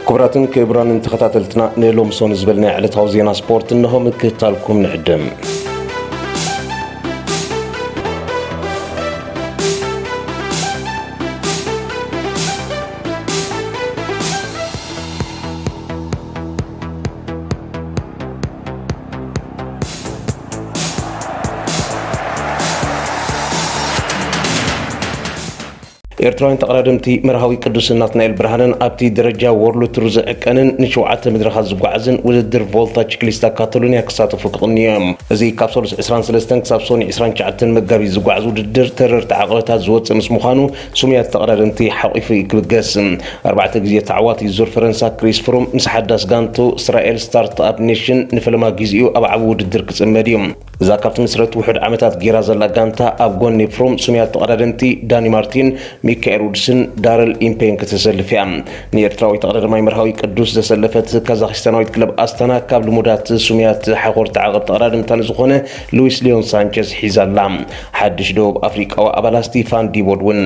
ክቡራትን ክቡራንን ተኸታተልትና፣ ንሎምሶን ዝበልናዮ ዕለታዊ ዜና ስፖርት እንሆ ምክትታልኩም ንዕድም። ኤርትራውያን ተቐዳደምቲ መርሃዊ ቅዱስ ናትናኤል ብርሃንን ኣብቲ ደረጃ ወርልድ ቱር ዝዕቀንን ንሸውዓተ መድረኻት ዝጓዓዝን ውድድር ቮልታ ቺክሊስታ ካታሎኒያ ክሳተፉ ክቕንዩ እዮም። እዚ ካብ ሰሉስ ዕስራን ሰለስተን ክሳብ ሶኒ ዕስራን ትሽዓተን መጋቢት ዝጓዓዝ ውድድር ተረርቲ ዓቐበታት ዝወፅእ ምስ ምዃኑ፣ ስሙያት ተቐዳደምቲ ሓቒፉ እዩ ክብገስ። ኣርባዕተ ግዜ ተዓዋቲ ዙር ፈረንሳ ክሪስ ፍሩም ምስ ሓዳስ ጋንቱ እስራኤል ስታርትኣፕ ኔሽን ንፈለማ ግዜኡ ኣብ ዓቢ ውድድር ክጽመድ እዩ። እዛ ካብቲ ምስረት ውሑድ ዓመታት ጌራ ዘላ ጋንታ ኣብ ጎኒ ፍሩም ስሙያት ተቐዳደምቲ ዳኒ ማርቲን፣ ሚካኤል ውድስን ዳረል ኢምፔን ክትሰልፍ እያ። ንኤርትራዊ ተቐዳዳማይ መርሃዊ ቅዱስ ዘሰለፈት ካዛኽስታናዊት ክለብ ኣስታና ካብ ልሙዳት ስሙያት ሓኾርቲ ዓቐብ ተቐዳደምታ ንዝኾነ ሉዊስ ሊዮን ሳንቸዝ ሒዛ ኣላ። ሓድሽ ደቡብ ኣፍሪቃዊ ኣባላ ስቲፋን ዲቦድ እውን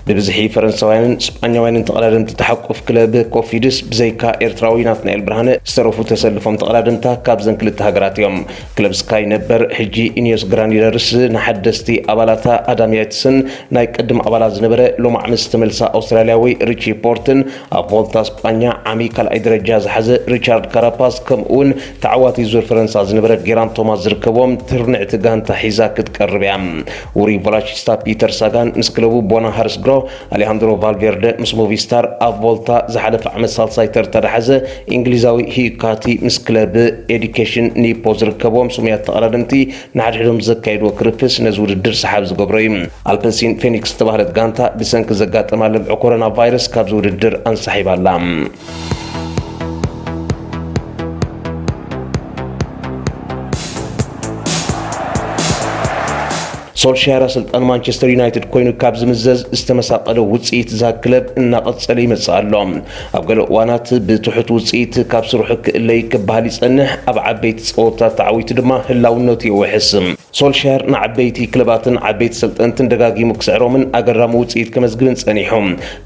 ብብዝሒ ፈረንሳውያንን ስጳኛውያንን ተቐዳደምቲ ተሓቁፍ ክለብ ኮፊድስ ብዘይካ ኤርትራዊ ናትናኤል ብርሃነ ዝተረፉ ተሰልፎም ተቐዳደምታ ካብዘን ክልተ ሃገራት እዮም። ክለብ ስካይ ነበር ሕጂ ኢኒዮስ ግራኒደርስ ንሓደስቲ ኣባላታ ኣዳም ያትስን ናይ ቅድም ኣባላት ዝነበረ ሎማዕ ምስ ተመልሳ ኣውስትራልያዊ ሪቺ ፖርትን ኣብ ቮልታ ስጳኛ ዓሚ ካልኣይ ደረጃ ዝሓዘ ሪቻርድ ካራፓስ ከምኡውን ተዓዋቲ ዙር ፈረንሳ ዝነበረ ጌራን ቶማስ ዝርከቦም ትርንዕቲ ጋንታ ሒዛ ክትቀርብ እያ። ውሩይ ቮላቺስታ ፒተር ሳጋን ምስ ክለቡ ቦና ሃርስግሮ፣ ኣሌሃንድሮ ቫልቬርደ ምስ ሞቪስታር ኣብ ቮልታ ዝሓለፈ ዓመት ሳልሳይ ተርታ ዝሓዘ እንግሊዛዊ ሂዩካቲ ምስ ክለብ ኤዲኬሽን ኒፖ ዝርከቦም ስሙያት ተቐዳደምቲ ንሓድሕዶም ዘካየድዎ ክርፍስ ነዚ ውድድር ሰሓብ ዝገብሮ እዩ። ኣልፐሲን ፌኒክስ ዝተባህለት ጋንታ ብሰንኪ ዘጋጠማ ለብዒ ኮሮና ቫይረስ ካብዚ ውድድር ኣንሳሒባ ኣላ። ሶልሻየር ኣሰልጣኒ ማንቸስተር ዩናይትድ ኮይኑ ካብ ዝምዘዝ ዝተመሳቐለ ውፅኢት እዛ ክለብ እናቐፀለ ይመፅእ ኣሎ። ኣብ ገለ እዋናት ብትሑት ውፅኢት ካብ ስርሑ ክእለይ ክበሃል ይፀንሕ፣ ኣብ ዓበይቲ ፀወታ ተዓዊቱ ድማ ህላውነቱ የውሕስ። ሶልሻየር ንዓበይቲ ክለባትን ዓበይቲ ሰልጠንትን ደጋጊሙ ክስዕሮምን ኣገራሚ ውፅኢት ከመዝግብን ፀኒሑ።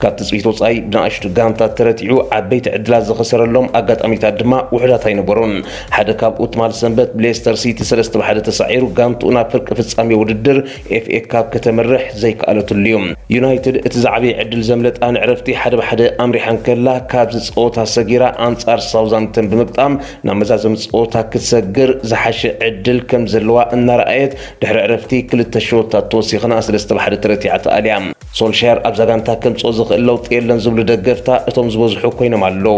ካብ ትፅቢት ወፃኢ ብንኣሽቱ ጋንታት ተረቲዑ ዓበይቲ ዕድላት ዝኸሰረሎም ኣጋጣሚታት ድማ ውሑዳት ኣይነበሩን። ሓደ ካብኡ ትማሊ ሰንበት ብሌስተር ሲቲ ሰለስተ ብ ሓደ ተሳዒሩ ጋንትኡ ናብ ፍርቂ ፍጻሜ ውድድር ኤፍ ኤ ካፕ ከተምርሕ ዘይከኣለትሉ እዩ። ዩናይትድ እቲ ዝዓበየ ዕድል ዘምለጣ ንዕረፍቲ ሓደ ብ ሓደ ኣምሪሓ እንከላ ካብዚ ፀወታ ሰጊራ ኣንጻር ሳውዛምተን ብምግጣም ናብ መዛዘሚ ፀወታ ክትሰግር ዝሓሸ ዕድል ከም ዘለዋ እናረኣየት ድሕሪ ዕረፍቲ ክልተ ሸወታት ተወሲኽና ሰለስተ ብ ሓደ ተረቲዓ ተኣልያ። ሶልሻየር ኣብዛ ጋንታ ከምጽኦ ዝኽእል ለውጢ የለን ዝብሉ ደገፍታ እቶም ዝበዝሑ ኮይኖም ኣለዉ።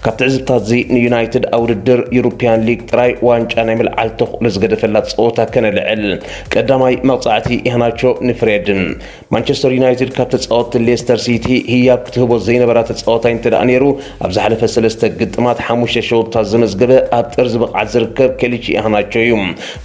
ካብ ትዕዝብታት እዚ ንዩናይትድ ኣብ ውድድር ዩሮፕያን ሊግ ጥራይ ዋንጫ ናይ ምልዓል ተኽእሎ ዝገደፈላ ጸወታ ከነልዕል። ቀዳማይ መቕጻዕቲ ኢህናቾ ንፍሬድን። ማንቸስተር ዩናይትድ ካብ ተጻወትቲ ሌስተር ሲቲ ህያብ ክትህቦ ዘይነበራ ተጻዋታይ እንተ ደኣ ነይሩ፣ ኣብ ዝሓለፈ ሰለስተ ግጥማት ሓሙሽተ ሸወታት ዘመዝገበ ኣብ ጥርዚ ብቕዓት ዝርከብ ኬሊቺ ኢህናቾ እዩ።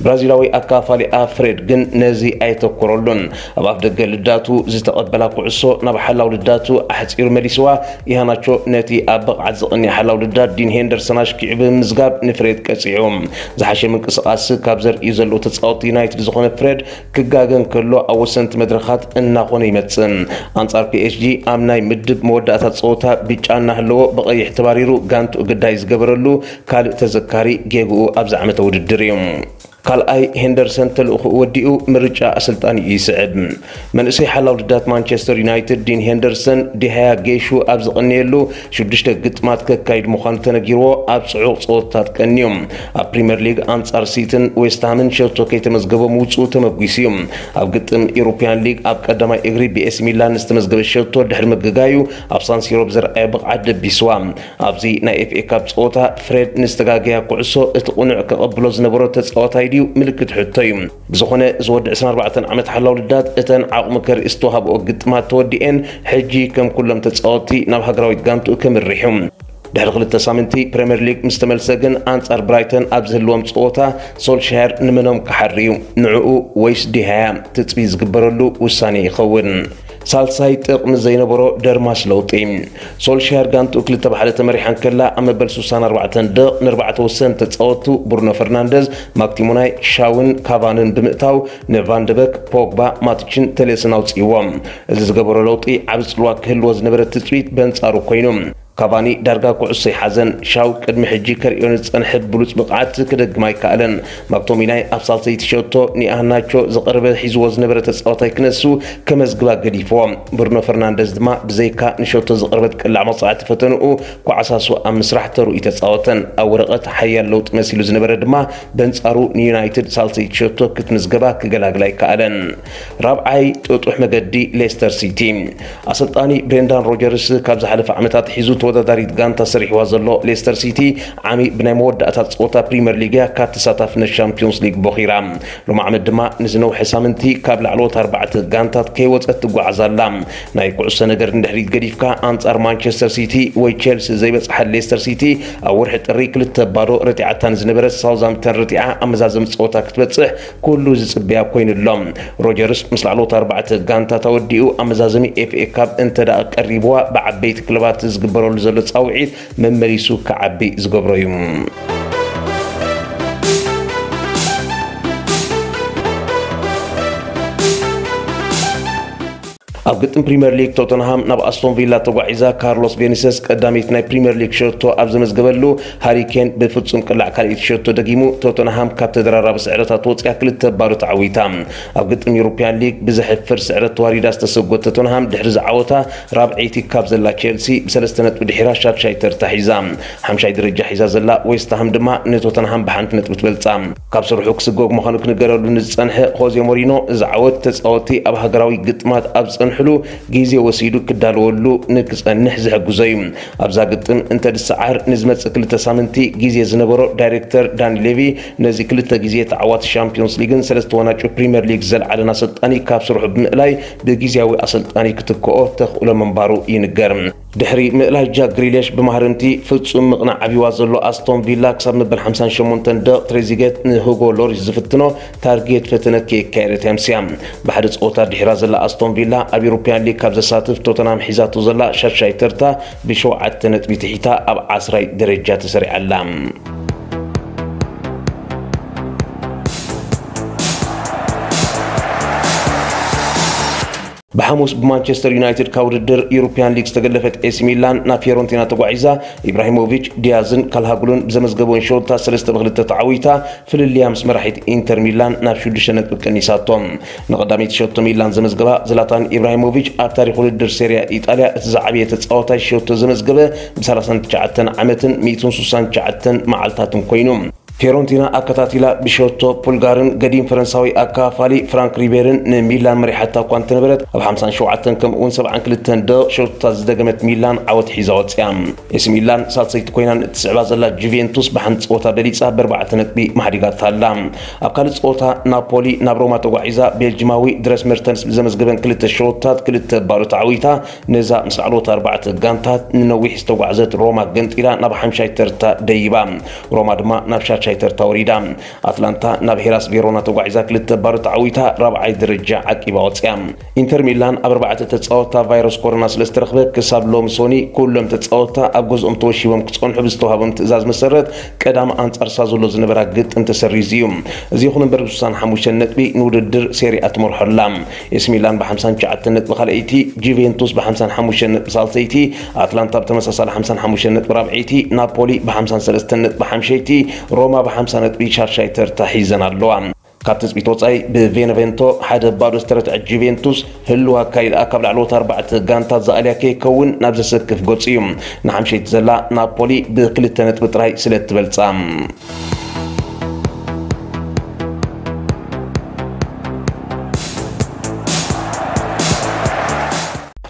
ብራዚላዊ ኣካፋሊ ኣፍሬድ ግን ነዚ ኣየተኮረሉን። ኣብ ኣፍደገ ልዳቱ ዝተቐበላ ኩዕሶ ናብ ሓላው ልዳቱ ኣሕጺሩ መሊስዋ። ኢሃናቾ ነቲ ኣብ ብቕዓት ዝቕንየ ሓላው ልዳት ዲን ሄንደርሰን ኣሽኪዑ ብምምዝጋብ ንፍሬድ ቀጺዑ። ዝሓሸ ምንቅስቓስ ካብ ዘርእዩ ዘለዉ ተጻወትቲ ዩናይትድ ዝኾነ ፍሬድ ክጋገ እንከሎ ኣብ ወሰንቲ መድረኻት እናኾነ ይመጽእ። ኣንጻር ፒ ኤስ ጂ ኣብ ናይ ምድብ መወዳእታ ጸወታ ብጫ እናሃለዎ ብቐይሕ ተባሪሩ ጋንትኡ ግዳይ ዝገበረሉ ካልእ ተዘካሪ ጌግኡ ኣብዚ ዓመተ ውድድር እዩ። ካልኣይ ሄንደርሰን ተልእኾኡ ወዲኡ ምርጫ ኣሰልጣኒኡ ይስዕብ። መንእሰይ ሓላው ልዳት ማንቸስተር ዩናይትድ ዲን ሄንደርሰን ዲሃያ ጌሹ ኣብ ዝቐነየሉ ሽዱሽተ ግጥማት ከካይድ ምዃኑ ተነጊርዎ ኣብ ጽዑቕ ጸወታታት ቀንዩ። ኣብ ፕሪምየር ሊግ ኣንጻር ሲትን ዌስትሃምን ሸቶ ከይተመዝገበ ምውጽኡ ተመጒሱ እዩ። ኣብ ግጥም ኢሮፕያን ሊግ ኣብ ቀዳማይ እግሪ ብኤሲ ሚላን ዝተመዝገበ ሸቶ ድሕሪ ምግጋዩ ኣብ ሳንሲሮ ብዘርኣየ ብቕዓት ደቢስዋ። ኣብዚ ናይ ኤፍ ኤ ካፕ ጸወታ ፍሬድ ንዝተጋገያ ኩዕሶ እቲ ቅኑዕ ከቐብሎ ዝነበሮ ተጻዋታይ ድዩ ምልክት ሕቶ እዩ። ብዝኾነ እዚ ወዲ ዕስራን ኣርባዕተን ዓመት ሓላው ልዳት እተን ዓቕሙ ከርኢ ዝተዋህብኦ ግጥማት ተወዲኤን ሕጂ ከም ኩሎም ተጻወትቲ ናብ ሃገራዊት ጋንትኡ ከምርሕ እዩ። ድሕሪ ክልተ ሳምንቲ ፕሪምየር ሊግ ምስ ተመልሰ ግን ኣንጻር ብራይተን ኣብ ዝህልዎም ጸወታ ሶልሻየር ንመኖም ክሓሪ እዩ? ንዕኡ ወይስ ዲሃያ? ትጽቢት ዝግበረሉ ውሳኔ ይኸውን። ሳልሳይ ጥቕሚ ዘይነበሮ ደርማስ ለውጢ። ሶልሻየር ጋንትኡ ክልተ ብ ሓደ ተመሪሓ እንከላ ኣብ መበል ሱሳን ኣርባዕተን ደቕ ንኣርባዕተ ወሰንቲ ተጻወቱ ብሩኖ ፈርናንደዝ፣ ማክቲሞናይ፣ ሻውን ካቫንን ብምእታው ንቫንደበክ፣ ፖግባ፣ ማቲችን ተሌስን ኣውጽእዎም። እዚ ዝገበሮ ለውጢ ዓቢ ጽልዋ ክህልዎ ዝነበረ ትጽቢት በንጻሩ ኮይኑ። ካቫኒ ዳርጋ ኩዕሶ ይሓዘን። ሻው ቅድሚ ሕጂ ከርእዮ ንዝጸንሐ ብሉጽ ብቕዓት ክደግም ኣይከኣለን። ማክቶሚናይ ኣብ ሳልሰይቲ ሸቶ ንኢሃናቾ ዝቐረበ ሒዝዎ ዝነበረ ተጻዋታይ ክነሱ ከመዝግባ ገዲፍዎ። ብሩኖ ፈርናንደዝ ድማ ብዘይካ ንሸቶ ዝቐረበት ቅላዕ መቕጻዕቲ ፈተንኡ፣ ኳዕሳሱ ኣብ ምስራሕ ተርኡ ተጻወተን። ኣብ ወረቐት ሓያል ለውጢ መሲሉ ዝነበረ ድማ በንጻሩ ንዩናይትድ ሳልሰይቲ ሸቶ ክትምዝገባ ክገላግል ኣይከኣለን። ራብዓይ ጥጡሕ መገዲ ሌስተር ሲቲ። ኣሰልጣኒ ብሬንዳን ሮጀርስ ካብ ዝሓለፈ ዓመታት ሒዙ ተወዳዳሪት ጋንታ ሰሪሕዋ ዘሎ ሌስተር ሲቲ ዓሚ ብናይ መወዳእታ ጸወታ ፕሪምየር ሊግ እያ ካብ ተሳታፍነት ሻምፒዮንስ ሊግ ቦኺራ። ሎሚ ዓመት ድማ ንዝነውሐ ሳምንቲ ካብ ላዕለዎት ኣርባዕተ ጋንታት ከይወጸት ትጓዓዝ ኣላ። ናይ ኩዕሶ ነገር ንድሕሪት ገዲፍካ ኣንጻር ማንቸስተር ሲቲ ወይ ቼልሲ ዘይበጽሓት ሌስተር ሲቲ ኣብ ወርሒ ጥሪ ክልተ ባዶ ረቲዓታ ንዝነበረት ሳውዝሃምፕተን ረቲዓ ኣብ መዛዘሚ ጸወታ ክትበጽሕ ኩሉ ዝጽበያ ኮይኑሎ። ሮጀርስ ምስ ላዕለዎት ኣርባዕተ ጋንታት ኣወዲኡ ኣመዛዘሚ ኤፍኤ ካፕ እንተ ደኣ ቀሪብዋ ብዓበይቲ ክለባት ዝግበረሉ ዘሎ ጻውዒት መመሊሱ ክዓቢ ዝገብሮ እዩ። ኣብ ግጥም ፕሪምየር ሊግ ቶተንሃም ናብ ኣስቶን ቪላ ተጓዒዛ። ካርሎስ ቬኒሰስ ቀዳመይቲ ናይ ፕሪምየር ሊግ ሸቶ ኣብ ዘመዝገበሉ፣ ሃሪ ኬን ብፍጹም ቅላዕ ካልኣይቲ ሸቶ ደጊሙ ቶተንሃም ካብ ተደራራቢ ስዕረታት ወፂኣ ክልተ ባዶ ተዓዊታ። ኣብ ግጥም ዩሮፕያን ሊግ ብዘሕፍር ስዕረት ተዋሪዳ ዝተሰጎት ቶተንሃም ድሕሪ ዝዓወታ ራብዐይቲ ካብ ዘላ ቼልሲ ብሰለስተ ነጥቢ ድሒራ ሻድሻይ ተርታ ሒዛ። ሓምሻይ ደረጃ ሒዛ ዘላ ዌስትሃም ድማ ንቶተንሃም ብሓንቲ ነጥቢ ትበልጻ። ካብ ስርሑ ክስጎግ ምዃኑ ክንገረሉ ንዝጸንሐ ሆዜ ሞሪኖ፣ እዚ ዓወት ተጻወትቲ ኣብ ሃገራዊ ግጥማት ኣብ ዝጸንሕሉ ግዜ ወሲዱ ክዳለወሉ ንክጸንሕ ዝሕግዞ እዩ። ኣብዛ ግጥም እንተ ድሰዓር ንዝመጽእ ክልተ ሳምንቲ ግዜ ዝነበሮ ዳይሬክተር ዳኒ ሌቪ፣ ነዚ ክልተ ግዜ ተዓዋቲ ሻምፒዮንስ ሊግን ሰለስተ ዋንጫ ፕሪምየር ሊግ ዘልዓለን ኣሰልጣኒ ካብ ስርሑ ብምእላይ ብግዝያዊ ኣሰልጣኒ ክትክኦ ተኽእሎ ምንባሩ ይንገር። ድሕሪ ምእላይ ጃክ ግሪሊሽ ብማህረምቲ ፍጹም ምቕናዕ ዓብይዋ ዘሎ ኣስቶን ቪላ ክሳብ መበል ሓምሳን ሸሞንተን ደቕ ትሬዚገት ንሁጎ ሎሪስ ዝፍትኖ ታርጌት ፈተነ ከየካየደት እያ ኣምስያ። ብሓደ ጸወታ ድሒራ ዘላ ኣስቶን ቪላ ኣብ ዩሮፕያን ሊግ ካብ ዘሳትፍ ቶተንሃም ሒዛቶ ዘላ ሻሻይ ተርታ ብሸውዓተ ነጥቢ ትሒታ ኣብ ዓስራይ ደረጃ ተሰሪዓ ኣላ። ብሓሙስ ብማንቸስተር ዩናይትድ ካብ ውድድር ዩሮፕያን ሊግ ዝተገለፈት ኤሲ ሚላን ናብ ፊዮረንቲና ተጓዒዛ። ኢብራሂሞቪች፣ ዲያዝን ካልሃጉሉን ብዘመዝገበውን ሸወታ ሰለስተ ብክልተ ተዓዊታ ፍልልያ ምስ መራሒት ኢንተር ሚላን ናብ ሽዱሽተ ነጥቢ ቀኒሳቶ። ንቐዳመይቲ ሸቶ ሚላን ዘመዝገባ ዝላታን ኢብራሂሞቪች ኣብ ታሪኽ ውድድር ሴሪያ ኢጣልያ እቲ ዝዓበየ ተጻዋታይ ሸቶ ዘመዝገበ ብ ሰላሳን ትሽዓተን ዓመትን ሚእትን ስሳን ትሽዓተን መዓልታትን ኮይኑ። ፊዮረንቲና ኣከታቲላ ብሸቶ ፑልጋርን ገዲም ፈረንሳዊ ኣካፋሊ ፍራንክ ሪቤርን ንሚላን መሪሓታ እኳ እንተነበረት፣ ኣብ ሓምሳን ሸውዓተን ከምኡውን ሰብዓን ክልተን ደቕ ሸቶታት ዝደገመት ሚላን ዓወት ሒዛ ወፅያ። ኤሲ ሚላን ሳልሰይቲ ኮይና እትስዕባ ዘላ ጁቬንቱስ ብሓንቲ ፀወታ በሊፃ ብኣርባዕተ ነጥቢ ማሕዲጋታ ኣላ። ኣብ ካልእ ፀወታ ናፖሊ ናብ ሮማ ተጓዒዛ ቤልጅማዊ ድረስ መርተንስ ብዘመዝገበን ክልተ ሸቶታት ክልተ ባዶ ተዓዊታ ነዛ ምስ ላዕለዎት ኣርባዕተ ጋንታት ንነዊሕ ዝተጓዕዘት ሮማ ገንጢላ ናብ ሓምሻይ ተርታ ደይባ። ሮማ ድማ ናብ ሻሻይ ተርታ ወሪዳ። ኣትላንታ ናብ ሄላስ ቬሮና ተጓዒዛ ክልተ ባዶ ተዓዊታ ራብዓይ ደረጃ ዓቂባ ወፅያ። ኢንተር ሚላን ኣብ ኣርባዕተ ተፃወትታ ቫይረስ ኮሮና ስለ ዝተረኽበ ክሳብ ሎሚ ሶኒ ኩሎም ተፃወትታ ኣብ ገዝኦም ተወሺቦም ክፀንሑ ብዝተዋሃቦም ትእዛዝ መሰረት ቀዳም ኣንፃር ሳዞሎ ዝነበራ ግጥም ተሰሪዙ እዩ። እዚ ይኹን እምበር ብስሳን ሓሙሽተን ነጥቢ ንውድድር ሴሪኣ ትመርሖ ኣላ። ኤሲ ሚላን ብ ሓምሳን ትሽዓተን ነጥቢ ካልኣይቲ፣ ጁቬንቱስ ብ ሓምሳን ሓሙሽተን ነጥቢ ሳልሰይቲ፣ ኣትላንታ ብተመሳሳሊ ሓምሳን ሓሙሽተን ነጥቢ ራብዐይቲ፣ ናፖሊ ብ ሓምሳን ሰለስተን ነጥቢ ሓምሸይቲ፣ ሮማ ብ ሓምሳ ነጥቢ ሻሻይ ተርታ ሒዘን ኣለዋ። ካብ ትጽቢት ወጻኢ ብቬነቬንቶ ሓደ ባዶ ዝተረትዐ ጁቬንቱስ ህልው ኣካይዳ ካብ ላዕለዎት ኣርባዕተ ጋንታት ዝኣልያ ከይከውን ናብ ዘሰክፍ ገጹ እዩ። ንሓምሸይቲ ዘላ ናፖሊ ብክልተ ነጥቢ ጥራይ ስለ እትበልጻ።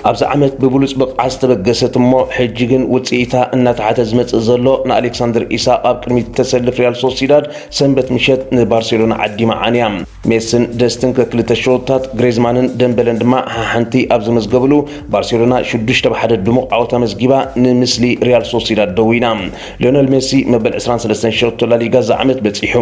ኣብዚ ዓመት ብብሉጽ ብቕዓት ዝተበገሰት እሞ ሕጂ ግን ውጽኢታ እናተሓተ ዝመጽእ ዘሎ ንኣሌክሳንደር ኢሳቕ ኣብ ቅድሚት እተሰልፍ ሪያል ሶሲዳድ ሰንበት ምሸት ንባርሴሎና ዓዲማ ዓንያ። ሜስን ደስትን ከክልተ ሸወታት፣ ግሬዝማንን ደምበለን ድማ ሓሓንቲ ኣብ ዘመዝገብሉ፣ ባርሴሎና ሽዱሽተ ብ ሓደ ድሙቕ ዓወት ኣመዝጊባ ንምስሊ ሪያል ሶሲዳድ ደዊና። ሊዮነል ሜሲ መበል ዕስራን ሰለስተን ሸቶ ላሊጋ እዚ ዓመት በጺሑ።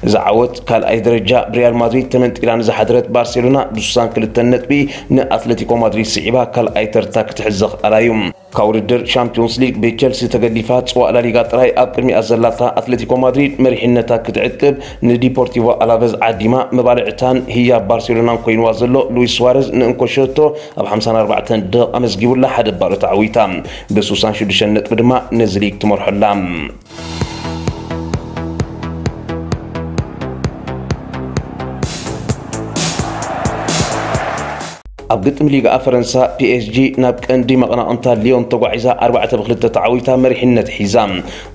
እዚ ዓወት ካልኣይ ደረጃ ብሪያል ማድሪድ ተመንጢላ ንዝሓደረት ባርሴሎና ብስሳን ክልተን ነጥቢ ንኣትለቲኮ ማድሪድ ስዒባ ካልኣይ ተርታ ክትሕዝ ዘኽኣላ እዩ። ካብ ውድድር ሻምፒዮንስ ሊግ ብቸልሲ ተገዲፋ ጽዋእ ላሊጋ ጥራይ ኣብ ቅድሚኣ ዘላታ ኣትሌቲኮ ማድሪድ መሪሕነታ ክትዕቅብ ንዲፖርቲቮ ኣላቨዝ ዓዲማ፣ መባልዕታን ህያብ ባርሴሎናን ኮይንዋ ዘሎ ሉዊስ ሱዋረዝ ንእንኮ ሸቶ ኣብ ሓምሳን ኣርባዕተን ደቂቕ ኣመዝጊቡላ ሓደ ባዶ ተዓዊታ። ብ66 ነጥቢ ድማ ነዚ ሊግ ትመርሖላ። ኣብ ግጥም ሊጋ ፈረንሳ፣ ፒ ኤስ ጂ ናብ ቀንዲ መቐናቕንታ ሊዮን ተጓዒዛ ኣርባዕተ ብ2 ተዓዊታ መሪሕነት ሒዛ።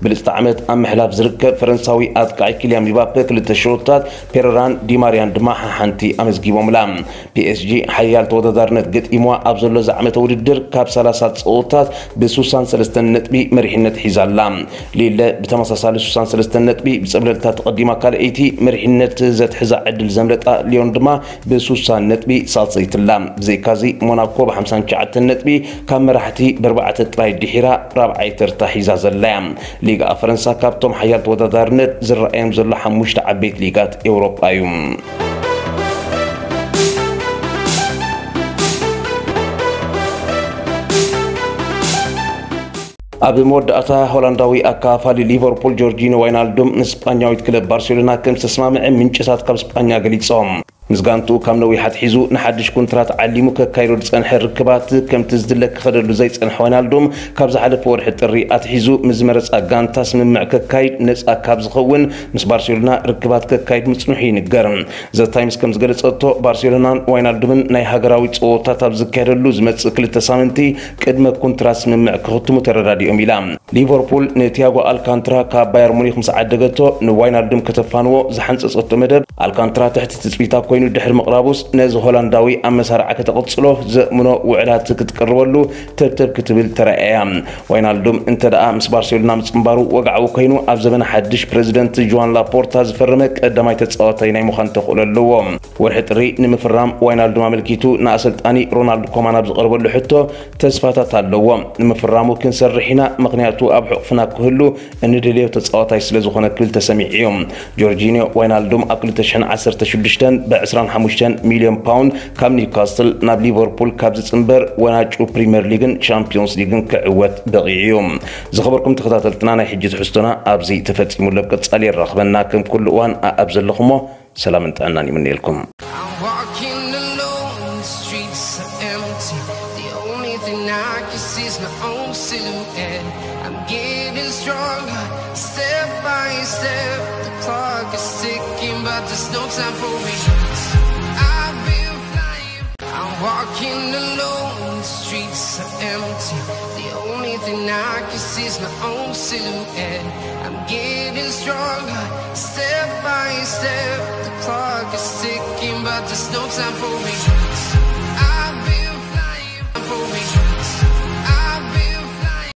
ብልጽቲ ዓመት ኣብ ምሕላፍ ዝርከብ ፈረንሳዊ ኣጥቃዒ ኪልያን ምባፔ ክልተ ሸቶታት፣ ፔሬራን ዲማርያን ድማ ሓሓንቲ ኣመዝጊቦምላ። ፒ ኤስ ጂ ሓያል ተወዳዳርነት ገጢምዋ ኣብ ዘሎ ዝዓመተ ውድድር ካብ ሰላሳ ጸወታት ብ63 ነጥቢ መሪሕነት ሒዛ ኣላ። ሊለ ብተመሳሳሊ ስሳን ሰለስተን ነጥቢ ብጸብለልታ ተቐዲማ ካልኣይቲ፣ መሪሕነት ዘትሕዛ ዕድል ዘምለጣ ሊዮን ድማ ብ60 ነጥቢ ሳልሰይትላ። ብዘይካዚ ሞናኮ ብ59 ነጥቢ ካብ መራሕቲ ብኣርባዕተ ጥራይ ድሒራ ራብዓይ ተርታ ሒዛ ዘላያ። ሊጋ ፈረንሳ ካብቶም ሓያል ተወዳዳርነት ዝረኣዮም ዘሎ ሓሙሽተ ዓበይቲ ሊጋት ኤውሮጳ እዩ። ኣብ መወዳእታ ሆላንዳዊ ኣካፋሊ ሊቨርፑል ጆርጂኖ ዋይናልዱም ንስጳኛዊት ክለብ ባርሴሎና ከም ዝተስማምዐ ምንጭታት ካብ ስጳኛ ገሊጾም። ምስ ጋንቱ ካብ ነዊሕ ኣትሒዙ ንሓድሽ ኮንትራት ዓሊሙ ከካይዶ ዝጸንሐ ርክባት ከምቲ ዝድለ ክኸደሉ ዘይጸንሐ ዋይናልዱም ካብ ዝሓለፈ ወርሒ ጥሪ ኣትሒዙ ምስ ዝመረጻ ጋንታ ስምምዕ ከካይድ ነጻ ካብ ዝኸውን ምስ ባርሴሎና ርክባት ከካይድ ምጽንሑ ይንገር። ዘ ታይምስ ከም ዝገለጸቶ፣ ባርሴሎናን ዋይናልዱምን ናይ ሃገራዊ ጸወታት ኣብ ዝካየደሉ ዝመጽእ ክልተ ሳምንቲ ቅድመ ኮንትራት ስምምዕ ክኽትሙ ተረዳዲኦም ኢላ። ሊቨርፑል ንቲያጎ ኣልካንትራ ካብ ባየር ሙኒክ ምስ ዓደገቶ፣ ንዋይናልዱም ከተፋንዎ ዝሓንጸጸቶ መደብ ኣልካንትራ ትሕቲ ትጽቢታ ኮይኑ ድሕሪ ምቕራቡስ፣ ነዚ ሆላንዳዊ ኣብ መሳርዓ ከተቐጽሎ ዘእምኖ ውዕላት ክትቅርበሉ ተብተብ ክትብል ተራእያ። ዋይናልዱም እንተ ደኣ ምስ ባርሴሎና ምጽንባሩ ወግዓዊ ኮይኑ፣ ኣብ ዘበነ ሓድሽ ፕረዚደንት ጆዋን ላፖርታ ዝፈረመ ቀዳማይ ተጻዋታይ ናይ ምዃን ተኽእሎ ኣለዎ። ወርሒ ጥሪ ንምፍራም ዋይናልዱም ኣመልኪቱ ንኣሰልጣኒ ሮናልድ ኮማን ኣብ ዝቐርበሉ ሕቶ፣ ተስፋታት ኣለዎ። ንምፍራሙ ክንሰርሕ ኢና፣ ምኽንያቱ ኣብ ሕቑፍና ክህሉ እንድልዮ ተጻዋታይ ስለ ዝኾነ ክብል ተሰሚዑ እዩ። ጆርጂኒዮ ዋይናልዱም ኣብ ክልተ ሽሕን ዓሰርተ ሽዱሽተን ብ ዕስራን ሓሙሽተን ሚልዮን ፓውንድ ካብ ኒውካስትል ናብ ሊቨርፑል ካብ ዝጽንበር፣ ወናጩ ፕሪምየር ሊግን ቻምፒዮንስ ሊግን ክዕወት በቒዑ እዩ። ዝኸበርኩም ተኸታተልትና፣ ናይ ሕጂ ትሕዝቶና ኣብዚ ተፈጺሙ ኣሎ። ኣብ ቀጻሊ የራኽበና። ከም ኩሉ እዋን ኣኣብ ዘለኹሞ ሰላምን ጥዕናን ይምነየልኩም። I'm walking alone, the streets are empty. The only thing I can see is my own silhouette. I'm getting stronger, step by step. The clock is ticking, but there's no time for me. I've been flying. I'm walking alone, the streets are empty. The only thing I can see is my own silhouette. I'm getting stronger, step by step. The clock is ticking, but there's no time for me.